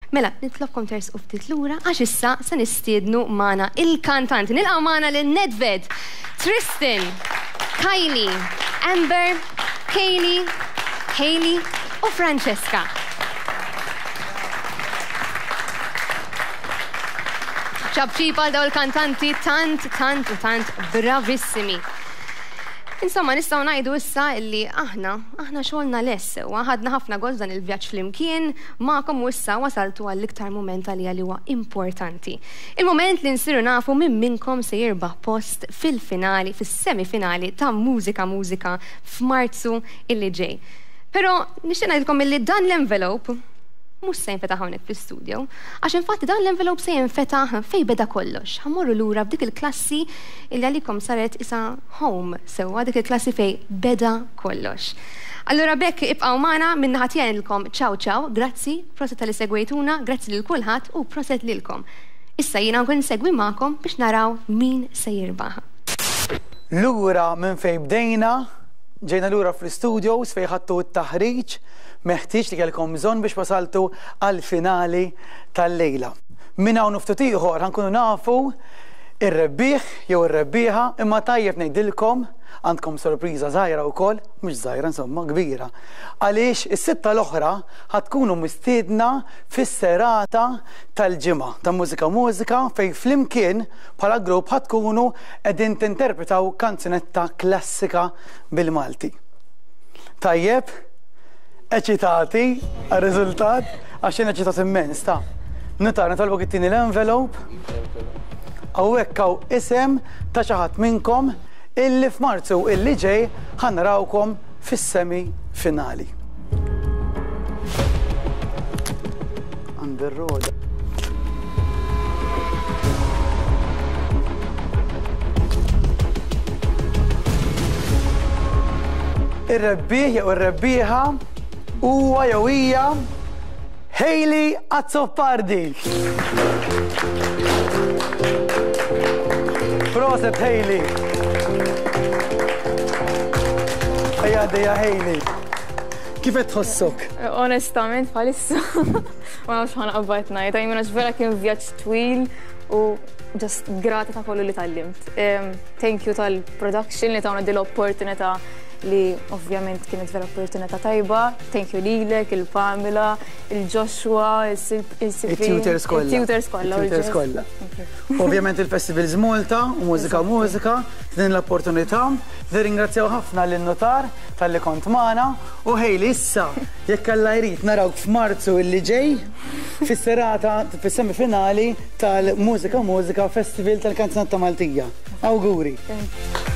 Mela, nitlobkom tersqu ftit lura għax issa se nistiednu magħna il-kantanti. Nilqgħu magħna lil Nedved, Tristan, Kylie, Amber, Kaylee, Hailey u Francesca. ċapċip għal daw il-kantanti tant, tant u tant bravissimi. Insomma, nistgħu ngħidu issa illi aħna, aħna xogħolna lest sewwa, ħadna ħafna gost dan il-vjaġġ flimkien magħkom u issa wasaltu għall-iktar mument għalija li huwa importanti. Il-mument li nsiru nafu min minnkom se jirbaħ post fil-finali, fis-semifinali ta' Mużika Mużika f'Marzu illi ġej. Però nixtieq ngħidilkom illi dan l-envelope mhux se jinfetaħ hawnhekk fl-istudio, għax infatti dan l-envelope se jinfetaħ fejn beda kollox. Ħa mmorru lura f'dik il-klassi illi għalikom saret isa home sewwa, dik il-klassi fejn beda kollox. Allura b'hekk ibqgħu magħna, min-naħa tiegħi ngħidilkom ciao ciao, grazzi, proset talli segwejtuna, grazzi lil kulħadd u proset lilkom. Issa jiena nkun insegwi magħkom biex naraw min se jirbaħ. Lura minn fejn bdejna, ġejna lura fl-istudios fejn ħadtu t-taħriġ meħtieġ li kellkom bżonn biex wasaltu għall-finali tal-lejla. Minn hawn u ftit ieħor ħa nkunu nafu Ir-rebbieħ jew ir-rebbieħa, imma tajjeb ngħidilkom, għandkom sorpriża żgħira wkoll, mhux żgħira insomma, kbira. Għaliex is-sitta l-oħra ħa tkunu mistiedna fis-serata tal-Ġimgħa ta' Mużika Mużika fejn flimkien bħala grupp ħa tkunu qegħdin tinterpretaw kanzunetta klassika bil-Malti. Tajjeb? Eċitati għar-riżultat? Għax jien eċitat immens, ta. Nutar, nitolbok ittini l-envelope. Hawnhekk hawn isem ta' xi ħadd minnkom illi f'Marzu illi ġej ħa narawkom fis-semi finali. Għandi r-roda. Ir-rebbieħ jew ir-rebbieħa huwa jew hija Hayley Azzopardi. Proset Hayley. Ejja għaddejja Hayley. Kif qed tħossok? Onestament bħalissa ma nafx ħa naqbad ngħid, I mean għax vera kien vjaġġ twil u just grata ta' kollu li tgħallimt. Thank you tal-production li tawna din l-opportunità li ovvjament kienet vera opportunità tajba. Thank you lilek, il-Pamela, il-Joshua, il-Sipri. Il-tutors kollha. Il-tutors kollha. Il-tutors kollha. Ovvjament il-Festivals Malta u Mużika Mużika din l-opportunità. Nirringrazzjaw ħafna lin-notar talli kont magħna u Hayley issa jekk Alla jrid narawk f'Marzu illi ġej fis-serata fis-semifinali tal-Mużika Mużika Festival tal-Kanzunetta Maltija. Awguri. Thank you.